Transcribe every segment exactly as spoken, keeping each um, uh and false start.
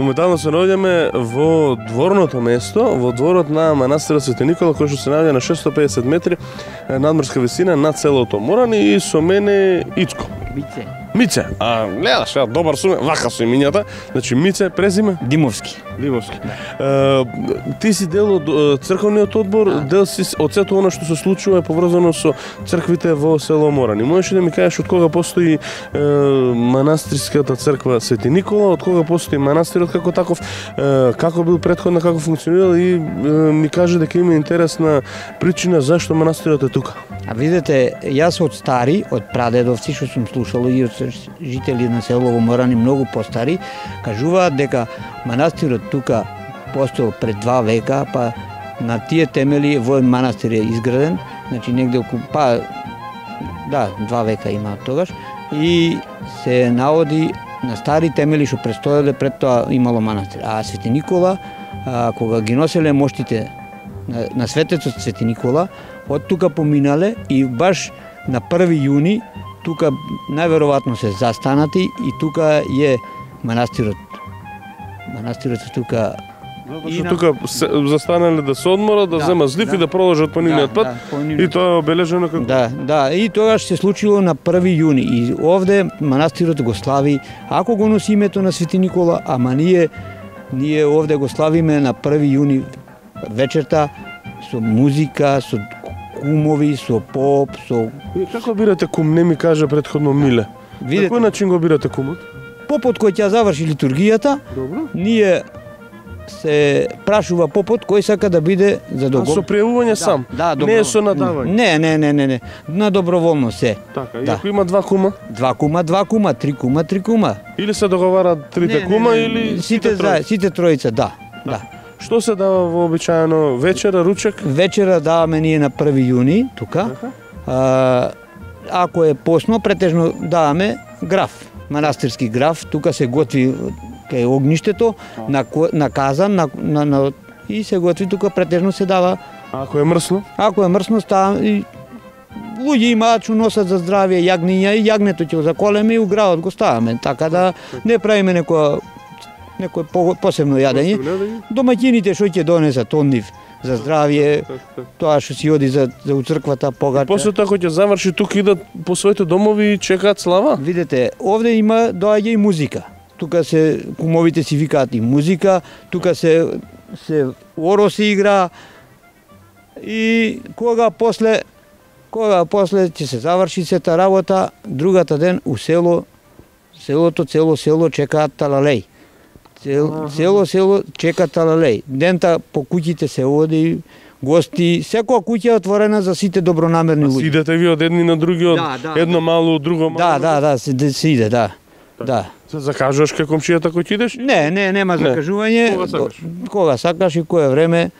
Моментално се наоѓаме во дворното место, во дворот на манастирот Свети Никола, кој што се наоѓа на шестстотини и педесет метри надморска висина над селото Моран, и со мене Ицко. Мице. Мице. А гледаш, ја добар сум, вака со имињата. Значи Мице, презиме Димовски. Димовски. Да. Е, ти си дел од црковниот одбор, да. Дел си од сето она што се случува е поврзано со црквите во село Моран. И можеш да ми кажеш од кога постои е, манастирската црква Свети Никола, од кога постои манастирот како таков, е, како бил претходно, како функционирал, и е, ми каже дека има интересна причина зашто манастирот е тука. А видите, јас од стари, од прадедовци што сум слушал и од жители на село Моран и многу постари, кажуваат дека манастирот тука постоел пред два века, па на тие темели воен манастир е изграден, значи негде околу, па да, два века има тогаш, и се наводи на стари темели што престоеле, пред тоа имало манастир. А Свети Никола, а, кога ги носеле моштите на, на светецот Свети Никола, од тука поминале и баш на први јуни тука најверојатно се застанати и тука е манастирот. Манастирот е тука. Затоа што тука се, застанале да се одморат, да, да земат злив да, и да продолжат по нивниот да, пат, да, по нивниот... и тоа е обележено како... Да, да, и тогаш се случило на први јуни и овде манастирот го слави, ако го носи името на Свети Никола, ама ние ние овде го славиме на први јуни вечерта со музика, со кумови, со поп, со... И како бирате кум, не ми кажа предходно Миле. Видете, на кој начин го бирате кумот? Попот кој ќе заврши литургијата, добро, ние се прашува попот кој сака да биде за договор. А со пријавување да, сам? Да, не е со надавање? Не, не, не, не, не. На доброволно се. Така, и да. ако има два кума? Два кума, два кума, три кума, три кума. Или се договарат трите не, кума, не, не, или сите, сите тројца? Сите тројца, да. да. да. Што се дава вообичаено вечера, ручек? Вечера даваме ние на први јуни, тука. А, ако е посно, претежно даваме граф, манастирски граф. Тука се готви кај огништето, на, на казан, на, на, на, и се готви тука, претежно се дава. А ако е мрсно? Ако е мрсно, става и луѓе имаат што носат за здравје јагниња и јагнето ќе го заколеме и у градот го ставаме, така да не правиме некоја некој посебно јадење. Домаќините што ќе донесат од нив за здравје, тоа што си оди за, за црквата, погача. После тоа кога ќе заврши тука идат по своите домови и чекаат слава? Видете, овде има доаѓа и музика. Тука се кумовите си викаат и музика, тука се се оро се игра и кога после кога после ќе се заврши сета работа, другата ден у село селото цело село чекаат талалеј. Цел, цело село чека талалеј. Дента по куќите се оди, гости, секоја куќа е отворена за сите добронамерни луѓе. Идете ви од едни на други, од да, да, едно мало, од друго мало? Да, да, да, се, се иде, да. Так. Да. Се закажуваш кај комшијата кој ќе идеш? Не, не, нема закажување. Кога сакаш? Кога сакаш и кое време.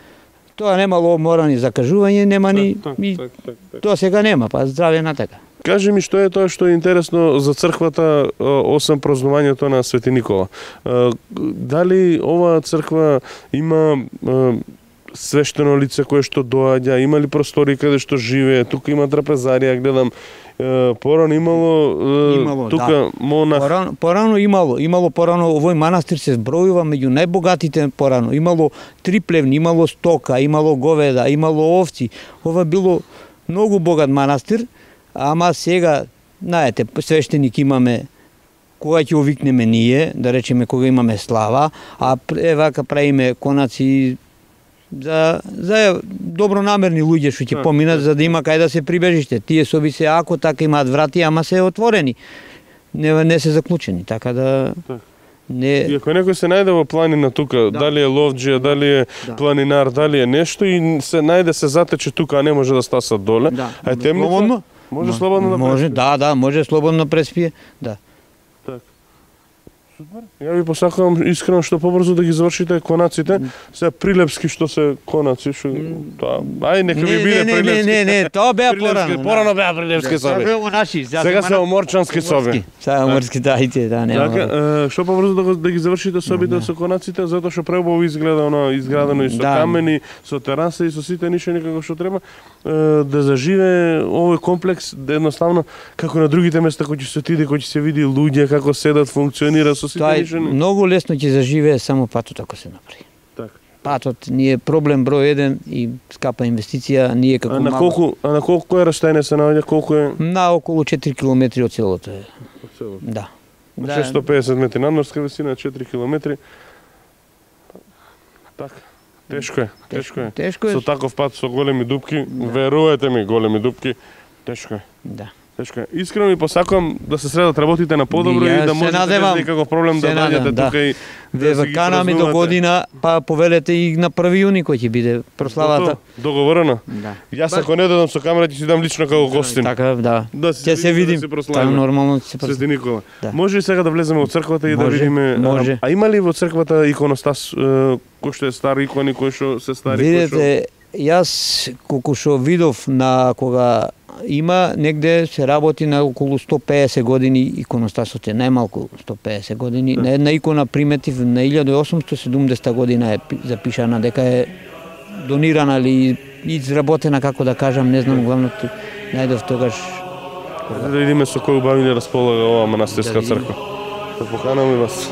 Тоа немало морани закажување, нема ни так, и так, так, так. Тоа сега нема, па здравје на така. Кажи ми што е тоа што е интересно за црквата освен празнувањето на Свети Никола. Дали оваа црква има свештено лице кое што доаѓа, има ли простори каде што живее, тука има трапезарија, гледам, порано имало, имало тука да. Монах. Порано, порано имало, имало порано, овој манастир се збројува меѓу најбогатите порано. Имало три плевни, имало стока, имало говеда, имало овци. Ова било многу богат манастир, ама сега, знаете, свештеник имаме кога ќе овикнеме ние, да речеме кога имаме слава, а е вака правиме конаци за за добронамерни луѓе што ќе поминат за да има кај да се прибежиште. Тие соби се ако така имаат врати, ама се отворени. Не не се заклучени, така да не. И ако некој се најде во планина тука, да. Дали е ловџија, дали е да. Планинар, дали е нешто и се најде се затече тука, а не може да стаса доле. Да. А темница слободно? Може no. слободно да може, преспие. Да, да, може слободно преспие. Да. Так. Супер. Ја ви посакувам искрено што побрзо да ги завршите конаците. Се прилепски што се конаци, што тоа. Ај нека ви биде прилепски. Не, не, не, тоа беа порано. Порано беа прилепски соби. Сега се оморчански соби. Сега оморски дајте, да, нема. Така, што побрзо да, да ги завршите собите со конаците, затоа што преубаво изгледа оно изградено и со камени, со тераса и со сите ништо никако што треба да заживе овој комплекс едноставно како на другите места кои ќе се отиде, кои ќе се види луѓе како седат, функционира со со сите Тоа е нишани. многу лесно ќе заживее само патот ако се направи. Така. Патот ни е проблем број еден и скапа инвестиција, ние како А на мало- колку, а на колку е растојание се наоѓа, колку е На околу четири километри од селото е. од селото? Да. Да. шестоста и педесет метри надморска висина, четири километри. Така. Тешко е, тешко е. Тешко е. Со таков пат, со големи дупки, верувате ми, големи дупки, тешко е. Да. Тешко е. Искрено ми посакувам да се средат работите на подобро Ја и да се можете без надевам. никаков проблем да Се дојдете надевам, да. тука и Ве да си ги канаме до празнувате. година, па повелете и на први јуни кој ќе биде прославата. Готово? Договорено? Да. Јас ако не додам со камера, ќе си дам лично како гостин. Така, да. Да се Ќе се видиме, видим. да се Така прославиме. нормално ќе се Свети прославиме. Никола. Да. Може ли сега да влеземе во црквата и да Може, видиме? може. А, а има ли во црквата иконостас е, кој што е стар икони, кој што се стари, кој што Видете, јас колку што видов на кога има негде се работи на околу сто и педесет години иконостасот е најмалку сто и педесет години. На една икона приметив на илјада и осумстотини и седумдесета година е пи- запишана дека е донирана или изработена, како да кажам, не знам, главно ту- најдов тогаш. да видиме со кој убавини располага оваа манастирска Да видиме. црква. Да поканаме вас.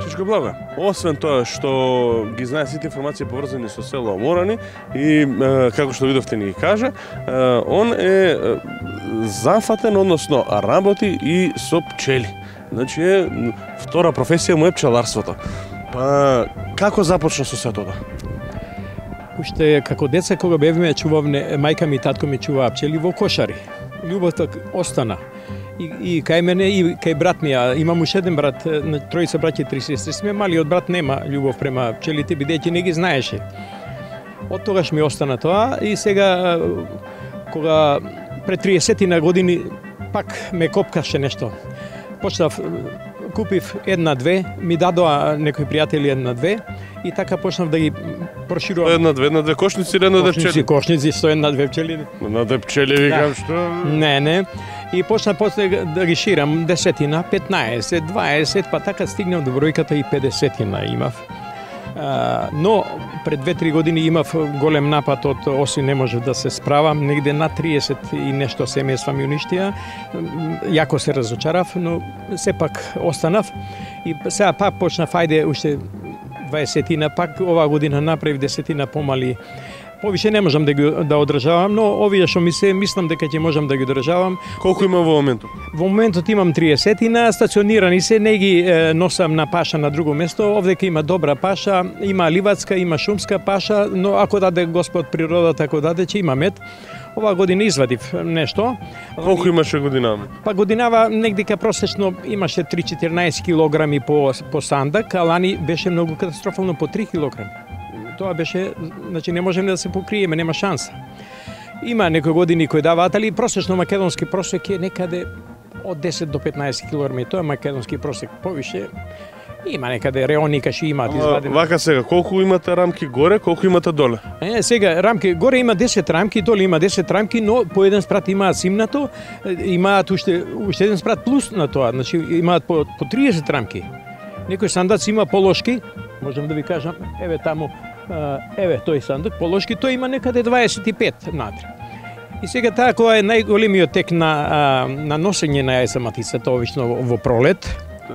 Чичко Благо, освен тоа што ги знае сите информации поврзани со село Морани и е, како што видовте ни ги кажа, е, он е е, зафатен, односно работи и со пчели. Значи е втора професија му е пчеларството. Па како започна со сето тоа? Уште како деца кога бевме чувавме, мајка ми и татко ми чуваа пчели во кошари. Љубовта остана. И, и кај мене и кај брат ми, а имам уште еден брат, на тројца браќа и три сестри сме, малиот брат нема љубов према пчелите, бидејќи не ги знаеше. Од тогаш ми остана тоа и сега кога пред триесет години пак ме копкаше нешто. Почнав, купив една-две, ми дадоа некои пријатели една-две и така почнав да ги проширувам. Една две, една две кошници, една две Кошници, пчели. кошници, сто една-две пчели. Една две пчели викам што Не, не. И почна после да ги ширам десетина, петнаесет, дваесет, па така стигнав до бројката и педесетина имав. А, но пред две-три години имав голем напад од оси не можев да се справам, негде на триесет и нешто семејства ми уништија. Јако се разочарав, но сепак останав и сега пак почнав, ајде уште дваесетина, пак оваа година направив десетина помали. Повише не можам да ги да одржавам, но овие што ми се мислам дека ќе можам да ги одржавам. колку има во моментот? Во моментот имам триесетина, стационирани се, не ги е, носам на паша на друго место. Овдека има добра паша, има ливадска, има шумска паша, но ако даде Господ природата, ако даде, ќе има мед. Оваа година извадив нешто. Колку имаше година? Па годинава негдека просечно имаше три-четиринаесет килограми по, по сандак, а лани беше многу катастрофално по три килограми. Тоа беше, значи не можеме да се покриеме, нема шанса. Има некои години кои даваат, али просечно македонски просек е некаде од десет до петнаесет килограми. Тоа е македонски просек. Повише има некаде реони каши имаат извадени. Вака сега, колку имате рамки горе, колку имате доле? Е, сега рамки горе има десет рамки, доле има десет рамки, но по еден спрат имаат симнато, имаат уште уште еден спрат плюс на тоа, значи имаат по по триесет рамки. Некој сандаци има положки, можам да ви кажам, еве таму, еве тој сандак положки, тој има некаде дваесет и пет внатре. И сега таа која е најголемиот тек на на носење на јајца матицата обично во пролет,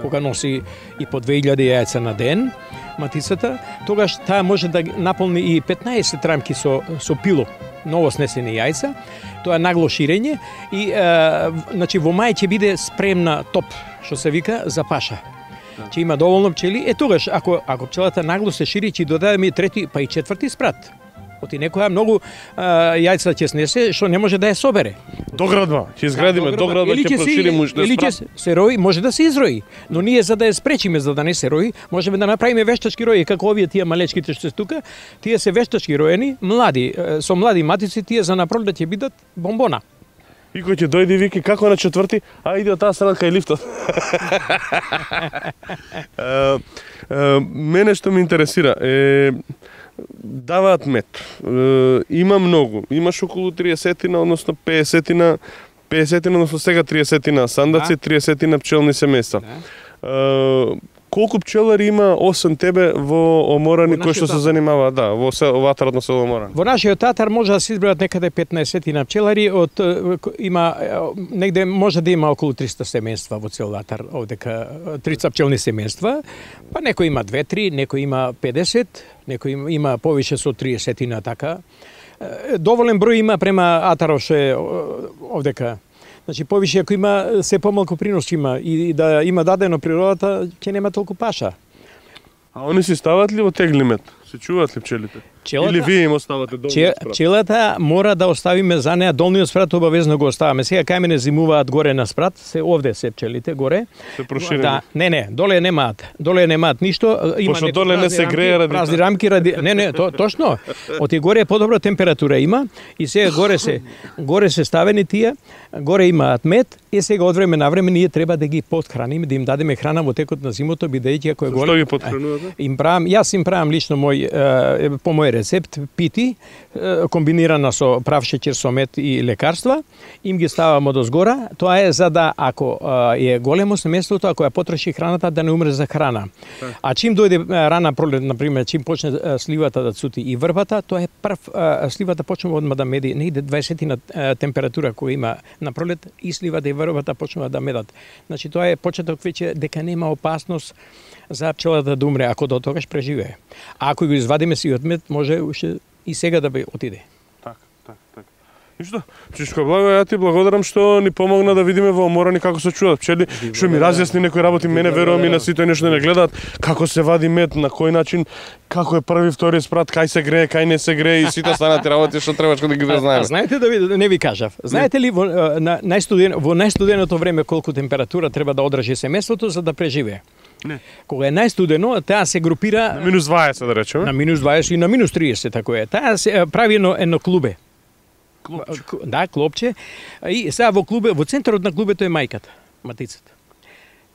кога носи и по две илјади јајца на ден матицата, тогаш таа може да наполни и петнаесет рамки со со пило. ново снесени јајца, тоа е нагло ширење и е, значи во мај ќе биде спремна топ, што се вика, за паша. Ќе има доволно пчели, е тогаш ако ако пчелата нагло се шири, ќе додадеме и трети, па и четврти спрат. Оти некоја многу а, јајца ќе снесе што не може да ја собере. Доградба, ќе изградиме доградба, ќе прошириме уште или ќе се рои, може да се изрои, но ние за да ја спречиме за да не се рои, можеме да направиме вештачки рои како овие тие малечките што се тука, тие се вештачки роени, млади, со млади матици, тие за напролет ќе бидат бомбона. И кој ќе дојде и вики како на четврти, а иде од таа страна кај лифтот. Мене што ме интересира е даваат мед. Е, има многу. Имаш околу триесетина, односно пеесетина, пеесетина, односно сега триесетина сандаци, триесетина пчелни семејства. Е, колку пчелари има освен тебе во Оморани кои што се занимаваат, да, во ватарот село Оморани? Во нашиот татар може да се избројат некаде петнаесетина пчелари, од има негде може да има околу триста семејства во цел ватар, овдека триста пчелни семејства, па некој има две-три, некој има педесет, некој има, има повише со триесетина така. Доволен број има према атаров ше овдека. Значи повише ако има се помалку принос има и да има дадено природата, ќе нема толку паша. А они си стават ли во тегли мед? Се чуваат ли пчелите? Пчелата, или вие им оставате долниот че, спрат? Пчелата мора да оставиме за неа, долниот спрат обавезно го оставаме. Сега кај мене зимуваат горе на спрат, се овде се пчелите горе. Се проширени. Да, не, не, доле немаат. Доле немаат ништо, има Пошто доле не се грее ради празни рамки ради не, не, то, точно. Оти горе подобра температура има и сега горе се горе се ставени тие, горе имаат мед и сега од време на време ние треба да ги подхраниме, да им дадеме храна во текот на зимото, бидејќи ако е горе. Што ги подхранувате? Им правам, јас им правам лично мој е, по мој рецепт пити е, комбинирана со прав шеќер со мед и лекарства, им ги ставам од озгора. Тоа е за да ако е големо семејството, ако ја потроши храната да не умре за храна. А чим дојде рана пролет, на пример, чим почне сливата да цути и врбата, тоа е прв сливата почнува одма да меди, негде дваесетина температура која има на пролет и сливата и врбата почнува да медат. Значи тоа е почеток веќе дека нема опасност за пчелата да умре ако до тогаш преживее. А ако го извадиме сивиот мед, може уште и сега да би отиде. Така, така, така. И што? Чичко Благо, ја ти благодарам што ни помогна да видиме во Оморани како се чуваат пчели, што ми разјасни некои работи, мене верувам и на сите нешто да не гледаат, како се вади мед, на кој начин, како е први, втори спрат, кај се грее, кај не се грее и сите останати работи што требаш да ги да знаеме. А, знаете да ви, не ви кажав. Знаете ли во на најстуден во најстуденото време колку температура треба да одржи семејството за да преживее? Не. Кога е најстудено, таа се групира на минус дваесет да речеме. На минус дваесет и на минус триесет тако е. Таа се прави едно едно клубе. Клопче. Да, клопче. И сега во клубе, во центарот на клубето е мајката, матицата.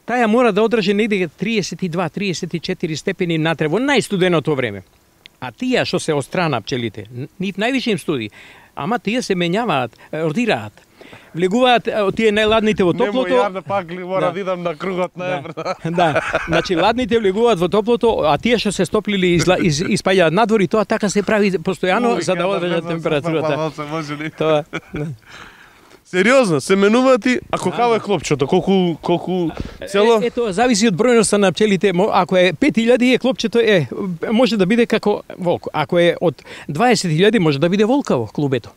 Таја мора да одржи негде триесет и два триесет и четири степени натре во најстуденото време. А тие што се од страна пчелите, нив највише им студи. Ама тие се менјаваат, родираат. Влегуваат тие најладните во топлото. Немо јарда пак мора да идам на кругот на да. да. Значи ладните влегуваат во топлото, а тие што се стоплили изла, из, испаѓаат надвор и тоа така се прави постојано за да одржат температурата. Тоа. Сериозно, се менуваат и ако како е клопчето, колку колку цело? Е, ето зависи од бројноста на пчелите. Ако е пет илјади е клопчето е може да биде како волк. Ако е од дваесет илјади може да биде волкаво клубето.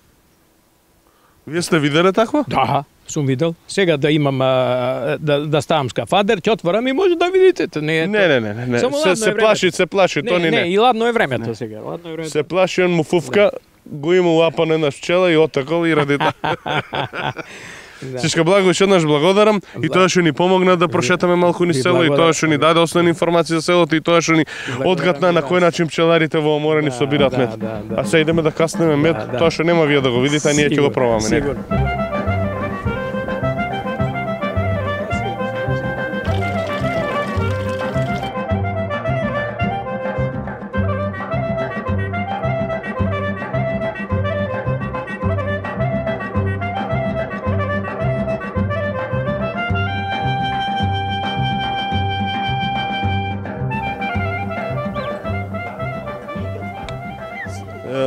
Вие сте виделе такво? Да, сум видел. Сега да имам а, да да ставам скафадер, ќе отворам и може да видите. Не, не, не, не, не, не. Се, се плаши, се плаши, не, тони не. Не, и ладно е времето не. Сега, ладно е времето. Се плаши, он му фуфка, да. Го има лапан една пчела и отакол и ради тоа. Да. Чичко Благо, уште еднаш благодарам и тоа што ни помогна да прошетаме малку низ село и тоа што ни даде основни информации за селото и тоа што ни одгатна на кој начин пчеларите во Оморани собираат мед. Да, да, да. А сега идеме да каснеме мед, да, да. Тоа што нема вие да го видите, а ние ќе го пробаме. Сигурно.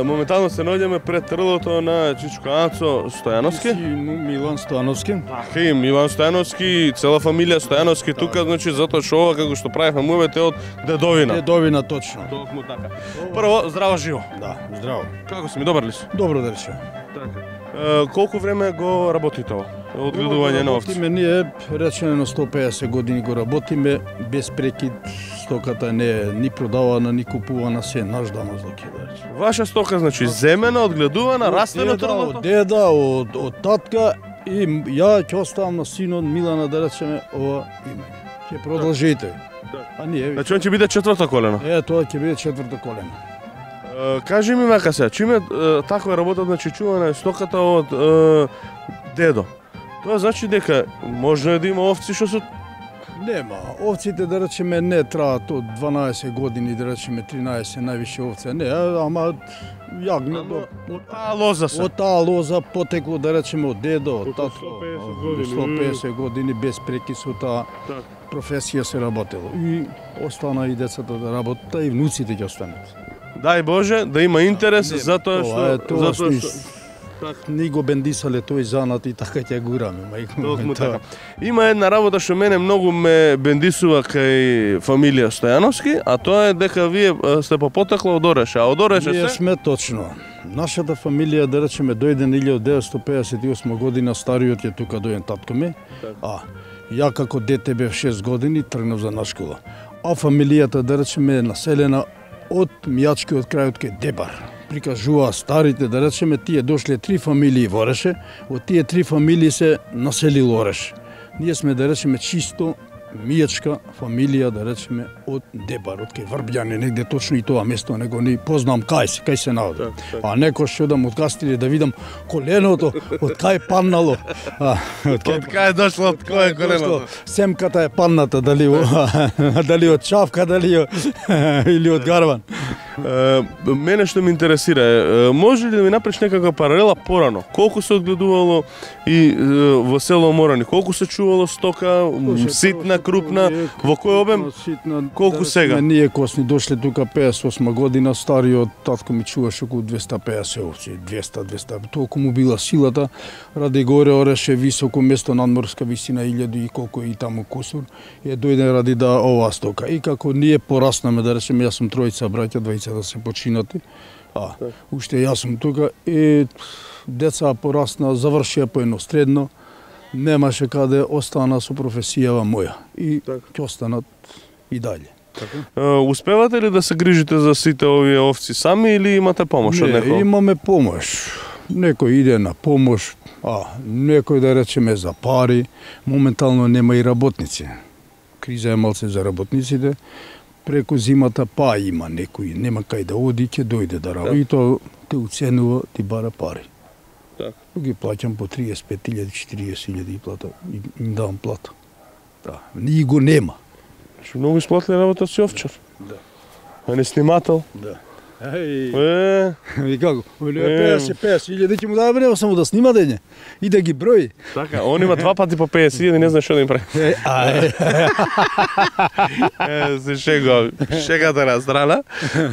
моментално се наоѓаме пред трлото на Чичко Ацо Стојановски. Милан Стојановски. Така и Милан Стојановски, цела фамилија Стојановски тука, значи затоа што ова како што правихме муавете од дедовина. Дедовина точно. Токму така. Прво, здраво живо. Да, здраво. Како си ми, добар ли си? Добро да речем. Така. Е, колку време го работите ова? Одгледување на овци? Работиме ние, речено сто педесет години го работиме, без прекид, стоката не е ни продавана, ни купувана, се наш дамазлак е да речем. Ваша стока, значи, земена, одгледувана, растена Од деда, трлото? Од деда, од, од татка и ја ќе оставам на синот Милана да речеме ова имање. Ќе продолжите. А ние, Значи, он ќе биде четврто колено. е, тоа ќе биде четврто колено. Е, кажи ми вака се, чиме е, таква работа, значи чувана е стоката од е, дедо. Тоа значи дека можно е да има овци што се Нема, овците да речеме не траат од дванаесет години, да речеме тринаесет највише овце, не, ама јагне до од таа лоза се. од таа лоза потекло да речеме од дедо, од Околу татко, сто педесет од години. сто педесет години без прекис со таа Така. професија се работело. И остана и децата да работат, и внуците ќе останат. Дај Боже да има интерес Не, затоа тоа е што тоа затоа што што ни го бендисале тој занат и така ќе гураме, мајко. Токму тоа. така. Има една работа што мене многу ме бендисува кај фамилија Стојановски, а тоа е дека вие е, сте по потекло од Ореше, а од Ореше Ние се сме точно. Нашата фамилија, да речеме, дојде на илјадесетстотини деветстотини педесет и осма година, стариот е тука дојден татко ми, а ја како дете бев шест години, тргнав за на школа. А фамилијата, да речеме, е населена од Мијачкиот крај, од кај Дебар. Прикажува старите, да речеме, тие дошле три фамилии во Ореше, од тие три фамилии се населил Ореш. Ние сме, да речеме, чисто мијачка фамилија, да речеме, од Дебар, од кај Врбјане, негде точно и тоа место, него не познам кај се, кај се наоди. А некој што одам од Кастиле да видам коленото, од кај паднало. А, од од кај е дошло, од кој е коленото? Семката е падната, дали, дали од чавка, дали од, или од гарван. Е, мене што ме интересира е, е, може ли да ми направиш некаква паралела порано? Колку се одгледувало и е, во село Морани? Колку се чувало стока, м, ситна, крупна, во кој обем? Ситна, Колку да сега? речеме, ние кога сме дошле тука педесет и осма година, стариот татко ми чуваше околу двеста педесет овци, двеста двеста. Толку му била силата, ради горе Ореше високо место надморска висина илјаду и колку и таму кусур, е дојде ради да оваа стока. И како ние пораснаме, да речеме, јас сум тројца браќа, двајца да се починати, а уште јас сум тука и деца порасна, завршија по едно средно, немаше каде, остана со професијава моја и ќе останат и дале. Е, успевате ли да се грижите за сите овие овци сами или имате помош од Не, некој? имаме помош. Некој иде на помош, а некој да речеме за пари, моментално нема и работници. Криза е малце за работниците. Преку зимата па има некој, нема кај да оди, ќе дојде да работи. И тоа те уценува, ти бара пари. Так. Ги плаќам по триесет и пет илјади, четириесет илјади и плата, и им давам плата. Да, ни го нема. Што многу исплатли работа си овчар. Да. А не снимател? Да. Еј, Е, и како? педесет педесет илјади ќе му даде, нема само да снима дење и да ги брои. така, он има два пати по педесет илјади, не знае што да им прави. Е, а, е. Е, се шегувам. Шегата на страна.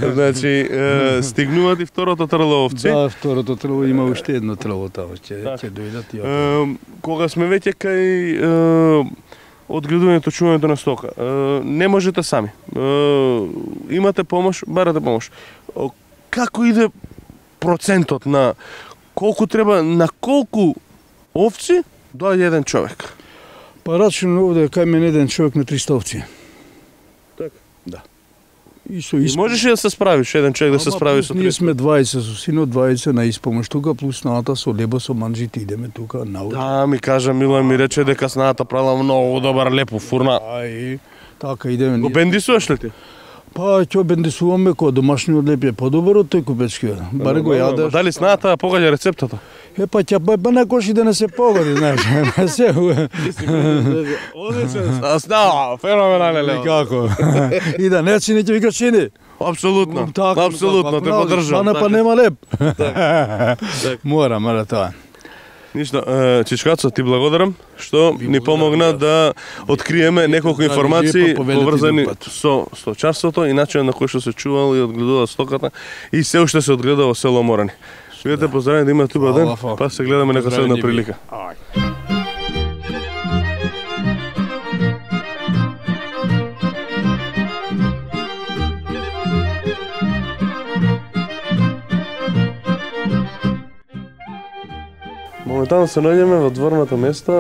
Значи, е, стигнуваат и второто трло овци. Да, второто трво има уште едно трво таму, ќе Да. ќе дојдат и Е, кога сме веќе кај е, одгледувањето, чувањето на стока, е, не можете сами. Е, имате помош, барате помош. О, како иде процентот на колку треба, на колку овци доаѓа еден човек? Па рачно овде кај мене еден човек на триста овци. Така. Да. И со И испомош. можеш ли да се справиш, еден човек да се Ама справи плюс со Ние триста? сме двајца со синот, двајца на испомош тука, плюс ната со лебо, со манџите идеме тука научи. Да, ми кажа Мила, ми рече дека снаата правила многу добар лепо фурна. А и така идеме. Го ние. бендисуваш ли ти? Па ќе бендисуваме кога домашниот леп е подобар од тој купечкиот. Баре го јадеш. Дали снаата погаѓа рецептата? Е па ќе па, па некош и да не се погоди, знаеш. Не се. Одличен. А сна, феноменален лево. Како? И да не чини ќе вика чини. Апсолутно. Така, Апсолутно те па, поддржам. Стана па така. нема леп. Так. Мора, мора тоа. Ништо, Чичкацо, ти благодарам што ни помогна да откриеме неколку информации поврзани со сточарството и начинот на кој што се чувал и одгледува стоката и се уште се одгледа во село Морани. Бидете поздравени да имате убав ден, па се гледаме нека следна прилика. Моментално се наоѓаме во дворното место,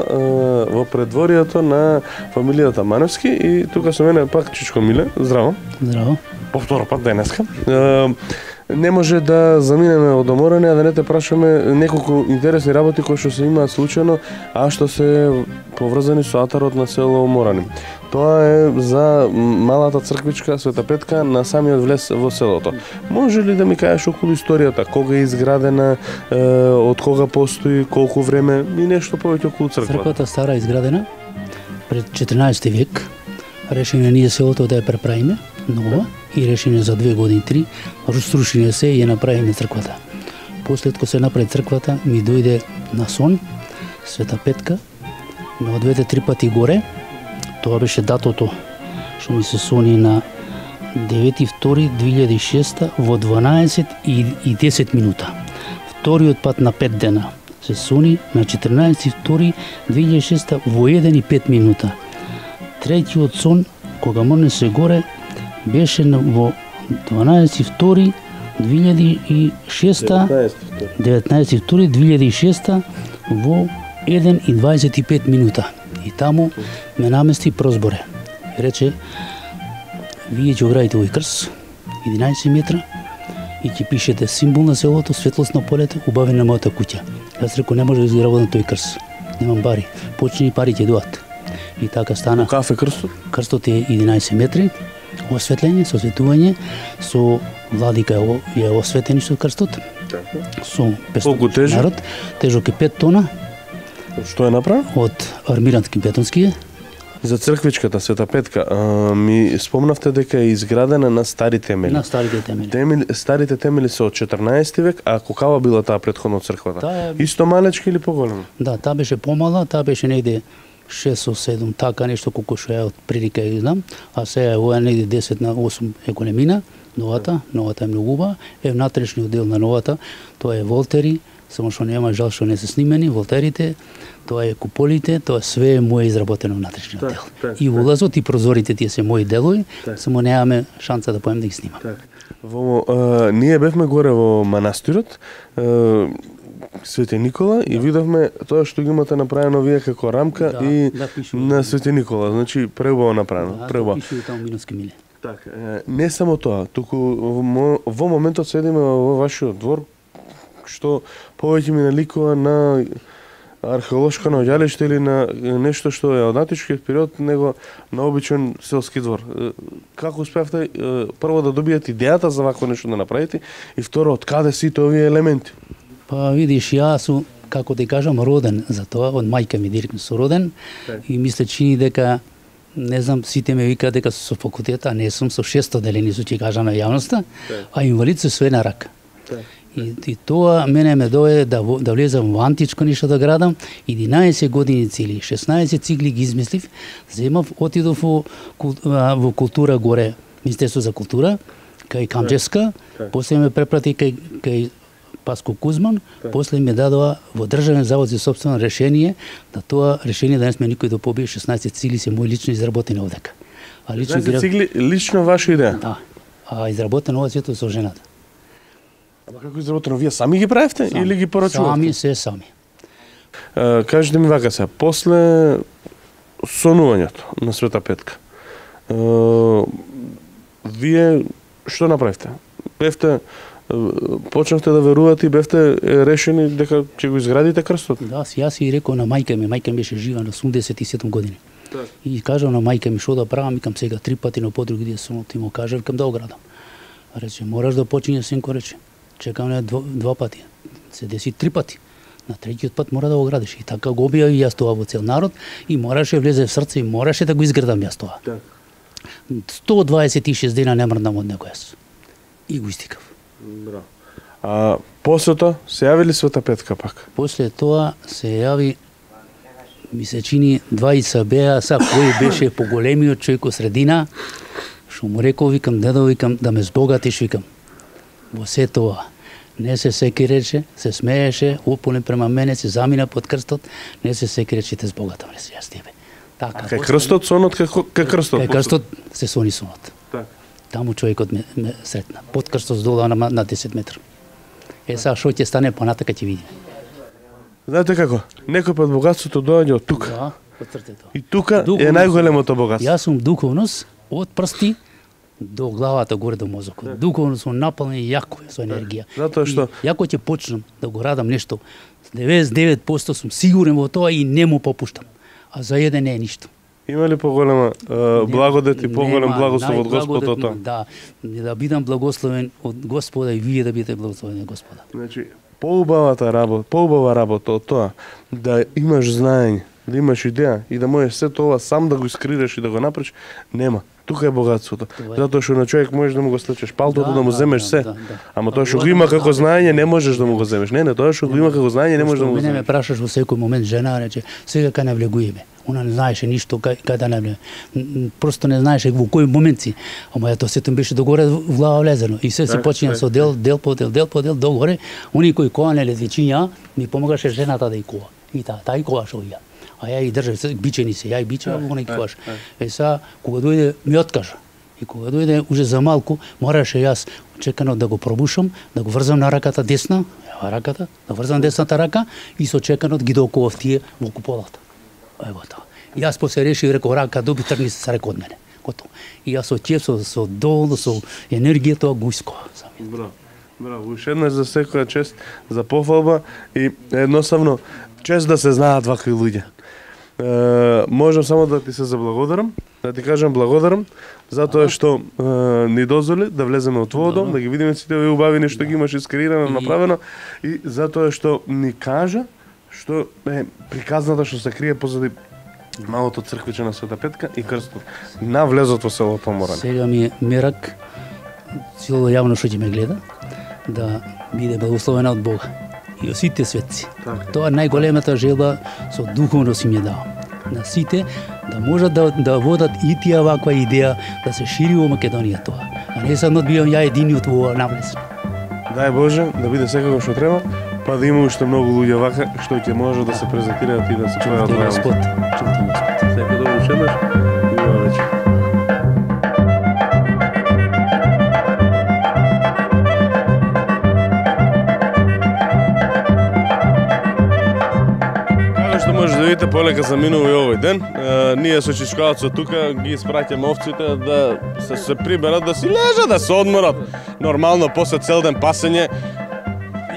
во предворието на фамилијата Маневски и тука со мене пак Чичко Миле. Здраво. Здраво. Повторо пат денеска. Не може да заминеме од Морани, а да не те прашаме неколку интересни работи кои што се имаат случајно, а што се поврзани со атарот на село Морани. Тоа е за малата црквичка Света Петка на самиот влез во селото. Може ли да ми кажеш околу историјата, кога е изградена, е, од кога постои, колку време и нешто повеќе околу црквата? Црквата стара изградена пред четрнаесети век. Решение ние селото да ја преправиме нова и решение за две години, три, разрушиме се и ја направиме црквата. После кога се направи црквата, ми дојде на сон Света Петка, ме одведе три пати горе. Тоа беше датото што ми се сони на девети втори две илјади и шеста во дванаесет и десет минута. Вториот пат на пет дена се сони на четрнаесети втори две илјади и шеста во еден и пет минута. Третиот сон, кога мрне се горе, беше во дванаесети втори две илјади и шеста, деветнаесети втори две илјади и шеста во еден и дваесет и пет минута. И таму ме намести прозборе. Рече, вие ќе оградите овој крс, единаесет метра, и ќе пишете символ на селото, светлост на полето, убави на мојата куќа. Јас реко, не може да изработам тој крс. Немам бари. Почни пари ќе доат. И така стана. Кафе крстот? Крстот е единаесет метри, осветлење, со осветување, со владика е осветени со крстот. Со петстотин народ, тежок е пет тона. Што е направен? Од армирантки бетонски. За црквичката Света Петка, а, ми спомнавте дека е изградена на стари темели. На старите темели. Темели, старите темели се од четрнаесети век, а какава била таа претходно црквата? Таа... Исто малечки или поголема? Да, таа беше помала, таа беше негде шест седум, така нешто колку што е од прилика ја знам, а сега е ова негде десет на осум економина, новата, новата е многу убава, е внатрешниот дел на новата, тоа е волтери, само што нема жал што не се снимени, волтерите, тоа е куполите, тоа све е моје изработено внатрешниот так, дел. Так, и улазот и прозорите тие се мои делови, так. Само немаме шанса да поем да ги снимам. Так. Во, а, ние бевме горе во манастирот, а, Свети Никола и видовме тоа што ги имате направено вие како рамка да, и да, на Свети Никола, значи преубаво направено, да, преубаво. Да, пишува таму Миновски миле. Така, не само тоа, туку во, во моментот седиме во вашиот двор, што повеќе ми наликува на археолошко наоѓалиште или на нешто што е од античкиот период, него на обичен селски двор. Како успеавте прво да добиете идејата за вакво нешто да направите и второ, од каде сите овие елементи? Па видиш, јас сум, како да кажам, роден за тоа, од мајка ми директно сум роден okay. И мисле чини дека, не знам, сите ме викаат дека со факултет, а не сум со шесто делени, со ќе кажа на јавноста, okay. А инвалид со све на рака. Okay. И, и тоа мене ме доведе да, да влезам во античко нешто да градам, единаесет години цели, шеснаесет цигли ги измислив, земав, отидов во, во култура горе, Министерство за култура, кај Камчевска, okay. После ме препрати кај, кај Паско Кузман, так. После ме дадоа во Државен завод за собствено решение, да тоа решение денес ме никој да побие, шеснаесет цигли се мои лично изработени овдека. А лично шеснаесет цигли лично ваша идеја? Да. А изработено ова свето со жената. Ама како изработено, вие сами ги правевте сами. Или ги порачувате? Сами, се сами. А, кажете ми вака се, после сонувањето на Света Петка, а, вие што направивте? Бевте почнавте да верувате и бевте решени дека ќе го изградите крстот? Да, јас и рекол на мајка ми, мајка ми беше жива на осумдесет и седум години. Так. И кажав на мајка ми што да правам, викам сега три пати на подруги где сум, ти му кажав, викам да оградам. Рече, мораш да почињеш, синко, рече. Чекам на два, два пати. Се деси три пати. На третиот пат мора да го градиш. И така го објави јас тоа во цел народ и мораше влезе в срце и мораше да го изградам јас тоа. Так. сто дваесет и шест дена не мрдам од него јас. И го истикав. Браво. А после тоа се јави ли Света Петка пак? После тоа се јави, ми се чини двајца беа, са кој беше поголемиот човек од средина, што му рекол, викам, дедо, викам, да ме збогатиш, викам. Во се тоа, не се секиреше, се смееше, ополен према мене, се замина под крстот, не се секиреше, те збогатам, не се јас тебе. Така, Кај крстот сонот, кај крстот? Кај крстот се сони сонот. Так. Таму човекот ме, ме сретна. Под крстот здола на, на десет метра. Е, сега што ќе стане понатака ќе видиме. Знаете како? Некој пат богатството доаѓа од тука. Да, од срцето. И тука Духовност. е најголемото богатство. Јас сум духовност од прсти до главата горе до мозокот. Духовност сум напален јако со енергија. Затоа што- И јако ќе почнам да го радам нешто, деветдесет и девет проценти сум сигурен во тоа и не му попуштам. А за еден не е ништо. Има ли поголема е, благодет и поголем Нема, благослов од Господ од тоа? најблагодетно, Да, да бидам благословен од Господа и вие да бидете благословени од Господа. Значи, поубавата работа, поубава работа од тоа да имаш знаење, да имаш идеја и да можеш се тоа сам да го искрираш и да го направиш, нема. Тука е богатството. Тоа е. Затоа што на човек можеш да му го слечеш палтото, Да, да му да, земеш да, се. да, да. Ама тоа што Тоа го е има да како му знаење не можеш да му го земеш. Не, не, тоа што го има како знаење не можеш да му го Мене ме земеш. прашаш во секој момент, жена рече, сега кај навлегуеме. Она не знаеше ништо кај, кај да навлегуеме. М, м, Просто не знаеше во кој момент си. Ама тоа сето беше догоре в глава влезено. И се се Так, почина так, со дел, дел по дел, дел по дел, догоре. Они кои коанеле летвичиња, ми помагаше жената да и кова. И таа, таа и коваше ја. А ја и држав, се- бичени се, ја и бичева, она и коваш. Е са, кога дојде, ми откажа. И кога дојде уже за малку, мораше јас чекано да го пробушам, да го врзам на раката десна, ева раката, да врзам десната рака и со чеканот ги докував тие во куполата. Ево тоа. И јас после решив, реков, рака доби, тргни се сареко од мене. Готово. И јас со тие, со, со дол, со енергија тоа го искова. Браво. Браво. Уште еднаш за секоја чест, за пофалба и едноставно чест да се знаат вакви луѓе. Е, можам само да ти се заблагодарам, да ти кажам благодарам, затоа што е, ни дозволи да влеземе од твојот дом, да ги видиме сите овие убавини што ги имаш искреирано, направено и затоа што ни кажа што е приказната што се крие позади малото црквиче на Света Петка и крстот на влезот во село Поморани. Сега ми е мерак, цело јавно што ќе ме гледа, да биде благословена од Бога и од сите светци. Така. Тоа е најголемата желба со духовност им ја дава. На сите да можат да, да водат и тие ваква идеја да се шири во Македонија тоа. А не само да бидам ја единиот во ова навлез. Дај Боже да биде секако што треба, па да има уште многу луѓе вака што ќе може да се презентираат и да се појават Чувате во Господ, јавност. чувате Господ. Секој добро уште еднаш и убава вечер. Како што може да видите, полека заминува и овој ден. Е, ние со Чичкалцот тука ги испраќаме овците да се, се приберат, да си лежат, да се одморат. Нормално, после цел ден пасење,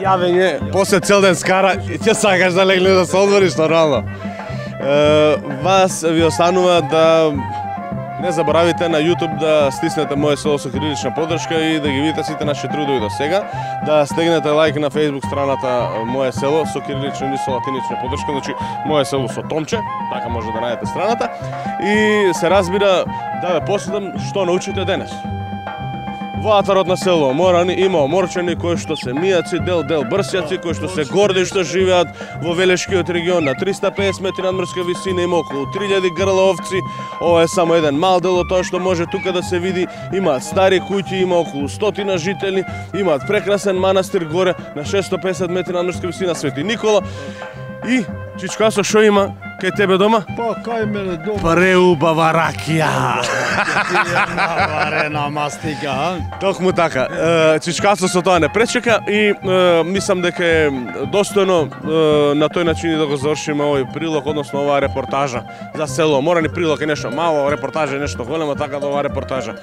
јавење, после цел ден скара, и ќе сакаш да легнеш да се одмориш нормално. Е, вас ви останува да не заборавите на YouTube да стиснете Моје село со кирилична поддршка и да ги видите сите наши трудови до сега, да стегнете лайк на Facebook страната Моје село со кирилична или со латинична поддршка, значи Моје село со томче, така може да најдете страната и се разбира да ве посетам што научите денес. Во атарот на село Морани има оморчани кои што се мијаци, дел дел брсјаци, кои што се горди што живеат во Велешкиот регион на триста и педесет метри надморска висина, има околу три илјади грла овци. Ова е само еден мал дел од тоа што може тука да се види. Имаат стари куќи, има околу стотина жители, имаат прекрасен манастир горе на шестоста и педесет метри надморска висина Свети Никола. И Чичкасо што има кај тебе дома? Па кај мене дома Преубава ракија. варена мастика, а? Токму така. Е, Чичкасо со тоа не пречека и е, мислам дека е достојно е, на тој начин и да го завршиме овој прилог, односно оваа репортажа за село Морани. Прилог е нешто мало, репортажа е нешто големо, така да оваа репортажа.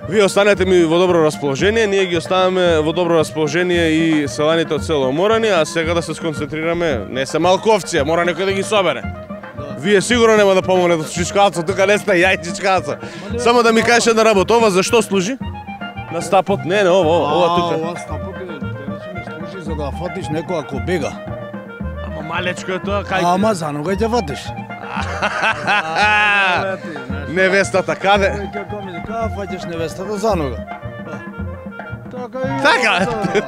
Вие останете ми во добро расположение, ние ги оставаме во добро расположение и селаните од село Морани, а сега да се сконцентрираме, не се малку овци, мора некој да ги собере. Вие сигурно нема да помогнете со Чичкалцо, тука не сте ја и Чичкалцо. Само да ми кажеш една работа, ова за што служи? На стапот? Не, не, ова, ова, ова тука. Ова стапот е, речеме, служи за да фатиш некој ако бега. Ама малечко е тоа, кај... Ама за нога ќе фатиш. Невестата каде? Како ми дека фаќаш невестата за нога. Па, Така,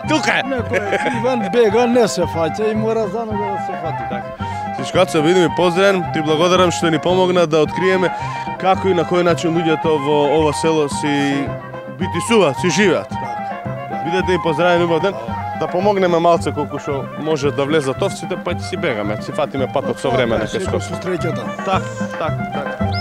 тука е. Некој Иван бега, не се фаќа и мора за него да се фати. Сишкаца, се видиме, поздравен, ти благодарам што ни помогна да откриеме како и на кој начин луѓето во ова село си битисуваат, си живеат. Бидете и поздравени, убав ден. Да помогнеме малце колку што може да влезат овците, па ќе си бегаме, си фатиме патот со време на кај Скопје. Среќата. Так, так, так.